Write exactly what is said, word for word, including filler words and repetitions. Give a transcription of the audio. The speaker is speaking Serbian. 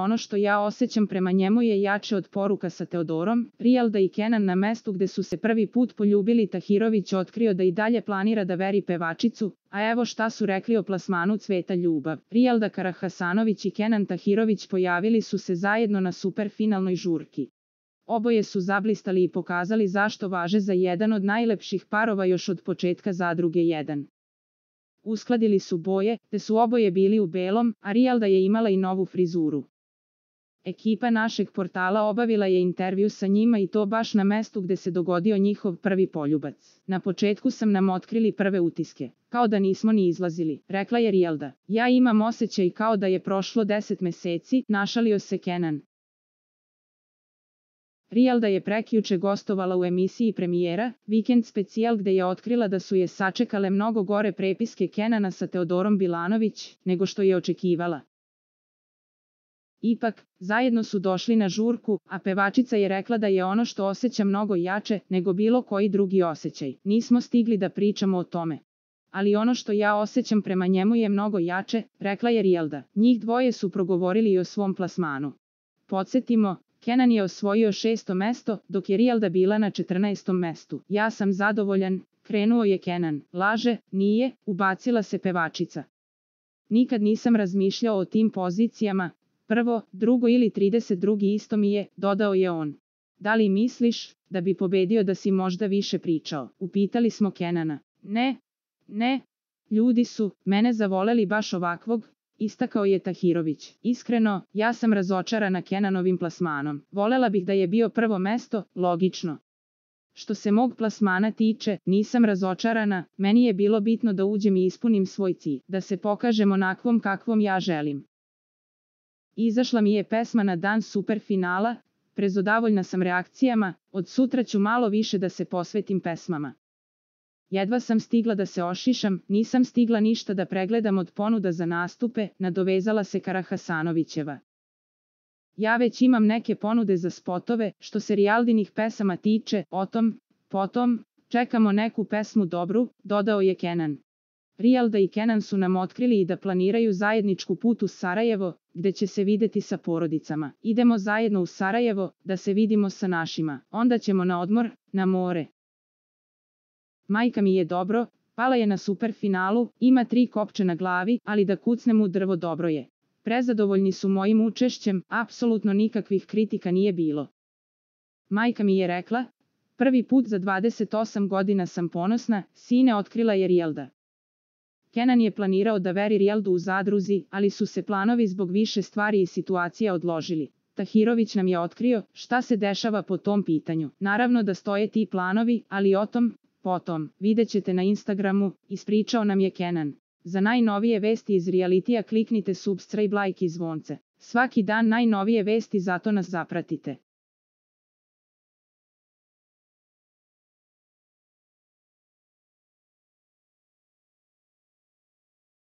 ono što ja osjećam prema njemu je jače od poruka sa Teodorom. Rijalda i Kenan na mestu gde su se prvi put poljubili. Tahirović otkrio da i dalje planira da veri pevačicu, a evo šta su rekli o plasmanu Cveta ljubav. Rijalda Karahasanović i Kenan Tahirović pojavili su se zajedno na superfinalnoj žurki. Oboje su zablistali i pokazali zašto važe za jedan od najlepših parova još od početka Zadruge jedan. Uskladili su boje, te su oboje bili u belom, a Rijalda je imala i novu frizuru. Ekipa našeg portala obavila je intervju sa njima i to baš na mestu gde se dogodio njihov prvi poljubac. Na početku sam nam otkrili prve utiske, kao da nismo ni izlazili, rekla je Rijalda. Ja imam osjećaj kao da je prošlo deset meseci, našalio se Kenan. Rijalda je prekjuče gostovala u emisiji premijera, Vikend specijal, gde je otkrila da su je sačekale mnogo gore prepiske Kenana sa Teodorom Bilanović, nego što je očekivala. Ipak, zajedno su došli na žurku, a pevačica je rekla da je ono što osjeća mnogo jače nego bilo koji drugi osjećaj. Nismo stigli da pričamo o tome. Ali ono što ja osjećam prema njemu je mnogo jače, rekla je Rijalda. Njih dvoje su progovorili i o svom plasmanu. Podsjetimo, Kenan je osvojio šesto mesto, dok je Rijalda bila na četrnaestom mestu. Ja sam zadovoljan, krenuo je Kenan. Laže, nije, ubacila se pevačica. Nikad nisam razmišljao o tim pozicijama, prvo, drugo ili trideset drugi isto mi je, dodao je on. Da li misliš, da bi pobedio da si možda više pričao? Upitali smo Kenana. Ne, ne, ljudi su mene zavoleli baš ovakvog, istakao je Tahirović. Iskreno, ja sam razočarana Kenanovim plasmanom. Volela bih da je bio prvo mesto, logično. Što se mog plasmana tiče, nisam razočarana, meni je bilo bitno da uđem i ispunim svoj cilj, da se pokažem onakvom kakvom ja želim. Izašla mi je pesma na dan superfinala, prezadovoljna sam reakcijama, od sutra ću malo više da se posvetim pesmama. Jedva sam stigla da se ošišam, nisam stigla ništa da pregledam od ponuda za nastupe, nadovezala se Karahasanovićeva. Ja već imam neke ponude za spotove, što se Rijaldinih pesama tiče, o tom, potom, čekamo neku pesmu dobru, dodao je Kenan. Rijalda i Kenan su nam otkrili i da planiraju zajedničku put u Sarajevo, gde će se videti sa porodicama. Idemo zajedno u Sarajevo, da se vidimo sa našima, onda ćemo na odmor, na more. Majka mi je dobro, pala je na superfinalu, ima tri kopče na glavi, ali da kucnem u drvo dobro je. Prezadovoljni su mojim učešćem, apsolutno nikakvih kritika nije bilo. Majka mi je rekla, prvi put za dvadeset osam godina sam ponosna, sine, otkrila je Rijalda. Kenan je planirao da veri Rijaldu u Zadruzi, ali su se planovi zbog više stvari i situacija odložili. Tahirović nam je otkrio šta se dešava po tom pitanju. Naravno da stoje ti planovi, ali o tom, potom, vidjet ćete na Instagramu, ispričao nam je Kenan. Za najnovije vesti iz realitija kliknite subscribe, like i zvonce. Svaki dan najnovije vesti, zato nas zapratite.